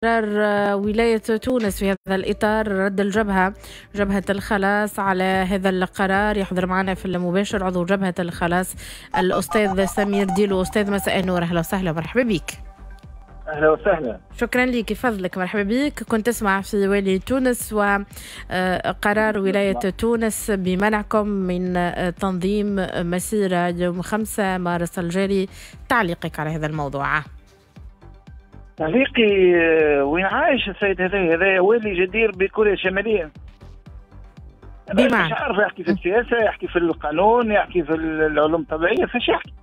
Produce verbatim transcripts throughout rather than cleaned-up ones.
قرار ولاية تونس في هذا الإطار، رد الجبهة جبهة الخلاص على هذا القرار. يحضر معنا في المباشر عضو جبهة الخلاص الأستاذ سمير ديلو. أستاذ مساء النور، أهلا وسهلا ومرحبا بك. أهلا وسهلا، شكرا لك، فضلك، مرحبا بك. كنت تسمع في والي تونس وقرار ولاية تونس بمنعكم من تنظيم مسيرة يوم خمسة مارس الجاري، تعليقك على هذا الموضوع؟ تعليقي وين عايش السيد هذا؟ هذا والي جدير بكوريا الشمالية. بمعنى مش عارف يحكي في السياسة، يحكي في القانون، يحكي في العلوم الطبيعية، فاش يحكي؟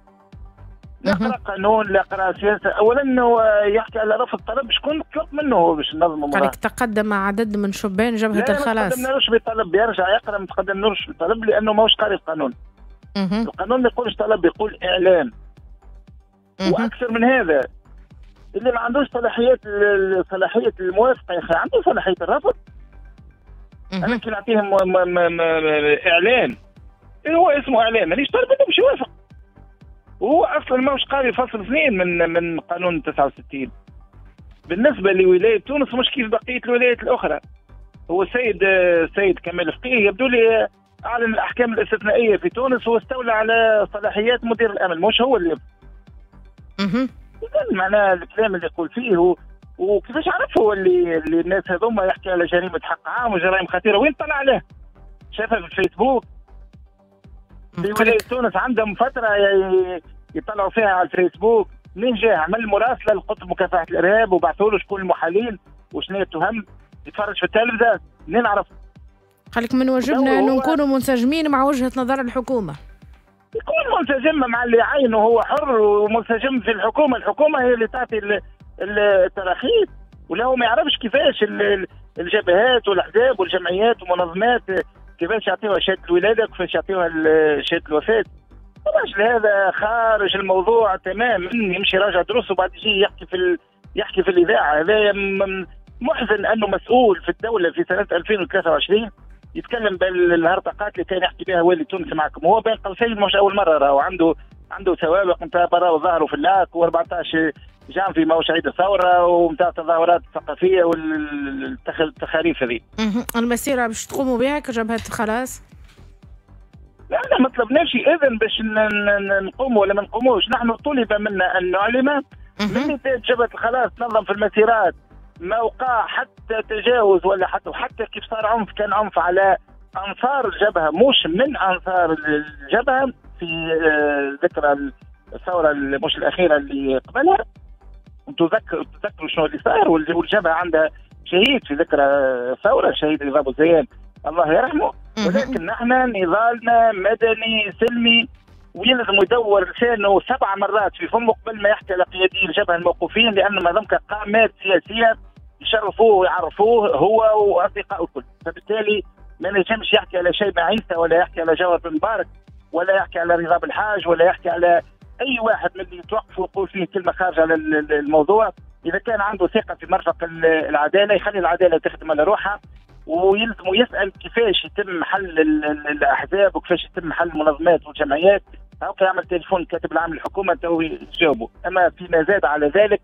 لا قرأ قانون لا قرأ سياسة. أولا هو يحكي على رفض طلب، شكون طلب منه هو باش ننظموا مظاهرة؟ قالك تقدم عدد من شبان جبهة الخلاص. لا، ما تقدمنالوش بطلب، يرجع يقرأ، ما تقدمنالوش بطلب لأنه ماهوش قاري القانون. القانون ما يقولش طلب، يقول إعلام. وأكثر من هذا، اللي ما عندوش صلاحيات صلاحية الموافقة يا أخي عنده صلاحية الرفض. أنا كي نعطيهم إعلان، هو اسمه إعلان، مانيش طالب منه باش يوافق. وهو اصلا ماهوش قاري فصل اثنين من من قانون تسعة وستين. بالنسبة لولاية تونس مش كيف بقية الولايات الاخرى. هو السيد السيد كمال فقيه يبدو لي اعلن الاحكام الاستثنائية في تونس واستولى على صلاحيات مدير الامن، مش هو اللي اها معناه الكلام اللي يقول فيه هو. وكيفاش عرف هو اللي, اللي الناس هذوما يحكي على جريمة حق عام وجرائم خطيرة؟ وين طلع عليه؟ شافها في الفيسبوك. في ولاية تونس عندهم فترة يطلعوا فيها على الفيسبوك. منين جاه؟ عمل مراسله لقطب مكافحة الارهاب وبعثوا له شكون المحالين وشنو هي التهم، يتفرج في التلفزة، منين عرف؟ قال لك من واجبنا انه نكونوا منسجمين مع وجهه نظر الحكومة. يكون منسجم مع اللي عينه، هو حر ومنسجم في الحكومة، الحكومة هي اللي تعطي التراخيص، ولا هو ما يعرفش كيفاش الجبهات والاحزاب والجمعيات والمنظمات كيفاش يعطيوها شهادة الولادة وكيفاش يعطيوها شهادة الوفاة. الراجل هذا خارج الموضوع تماما، يمشي يراجع دروسه وبعد يجي يحكي في ال... يحكي في الاذاعة. هذا محزن انه مسؤول في الدولة في سنة ألفين وثلاثة وعشرين يتكلم بالهرطقات اللي كان يحكي بها والي تونس معكم. هو بين قوسين مش اول مرة، راهو عنده عنده سوابق نتاع برا وظهروا في اللاك وأربعطاش جانفي ماهوش عيد الثورة ونتاع التظاهرات الثقافية والتخاريف هذه. المسيرة باش تقوموا بها كجبهه خلاص؟ لا، لا ما طلبناش اذن باش نقوموا ولا ما نقوموش. نحن طلب منا ان نعلم من جبهة الخلاص تنظم في المسيرات، ما وقع حتى تجاوز ولا حتى وحتى كيف صار عنف كان عنف على انصار الجبهة مش من انصار الجبهة في ذكرى الثورة مش الاخيرة اللي قبلها. تذكروا تذكروا شنو اللي صار، والجبهه عندها شهيد في ذكرى الثورة، شهيد رضا بوزيان الله يرحمه. ولكن نحن نضالنا مدني سلمي، ويلزم يدور لسانه سبع مرات في فمه قبل ما يحكي على قيادي الجبهة الموقوفين، لانه ما دام قامات سياسية يشرفوه ويعرفوه هو واصدقائه الكل. فبالتالي ما نجمش يحكي على شيبة عيسى ولا يحكي على جوهر بن مبارك ولا يحكي على رضا بالحاج ولا يحكي على اي واحد من اللي يتوقفوا ويقول فيه كلمة خارجه على الموضوع. اذا كان عنده ثقة في مرفق العدالة يخلي العدالة تخدم على روحها، ويلزم يسال كيفاش يتم حل الاحزاب وكيفاش يتم حل المنظمات والجمعيات. هاكا يعمل تليفون الكاتب العام للحكومة تو يجاوبوا. اما فيما زاد على ذلك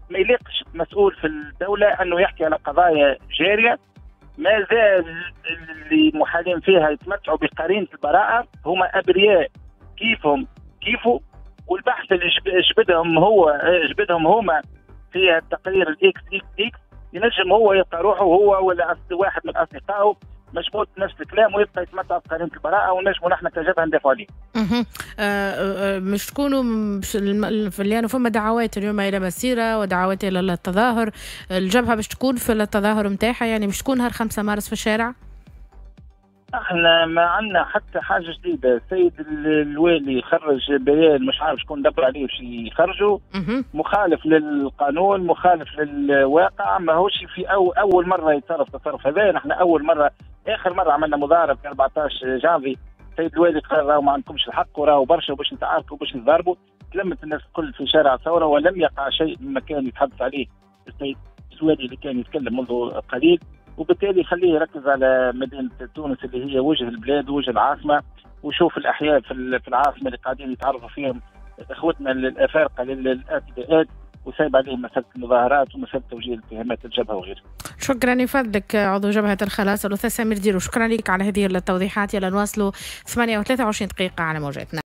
ما يليقش مسؤول في الدولة انه يحكي على قضايا جارية ما زال اللي محالين فيها يتمتعوا بقرينة البراءة، هما ابرياء كيفهم كيفه. والبحث اللي جبدهم هو جبدهم هما في التقرير الاكس اكس اكس ينجم هو يلقى روحه هو ولا واحد من اصدقائه مشبوط نفس الكلام ويبقى يتمتع بقرينة البراءة، ونجموا نحن كجبهه ندافعوا عليه. اها أه مش تكونوا لانه فما دعوات اليوم الى مسيره ودعوات الى التظاهر، الجبهة باش تكون في التظاهر نتاعها، يعني مش تكون نهار خمسة مارس في الشارع؟ احنا ما عندنا حتى حاجة جديدة. السيد الوالي خرج بيان مش عارف شكون دبر عليه باش يخرجوا، مخالف للقانون، مخالف للواقع، ماهوش في أو اول مرة يتصرف تصرف هذا. نحن اول مرة اخر مرة عملنا مظاهره في أربعطاش جانفي، السيد الوالي قال راهو ما عندكمش الحق وراهو برشا وباش نتعاركوا وباش نضربوا. تلمت الناس الكل في شارع الثورة ولم يقع شيء مما كان يتحدث عليه السيد الوالي اللي كان يتكلم منذ قليل. وبالتالي خليه يركز على مدينة تونس اللي هي وجه البلاد وجه العاصمة، وشوف الاحياء في العاصمة اللي قاعدين يتعرضوا فيهم اخوتنا الافارقة للاعتداءات. وسايب عليه مسالة المظاهرات ومسالة توجيه الاتهامات للجبهه وغيرها. شكرا لفضلك عضو جبهة الخلاص الاستاذ سمير ديرو، شكرا لك على هذه التوضيحات. يلا نواصلوا ثمانية وثلاثة وعشرين دقيقة على موجاتنا.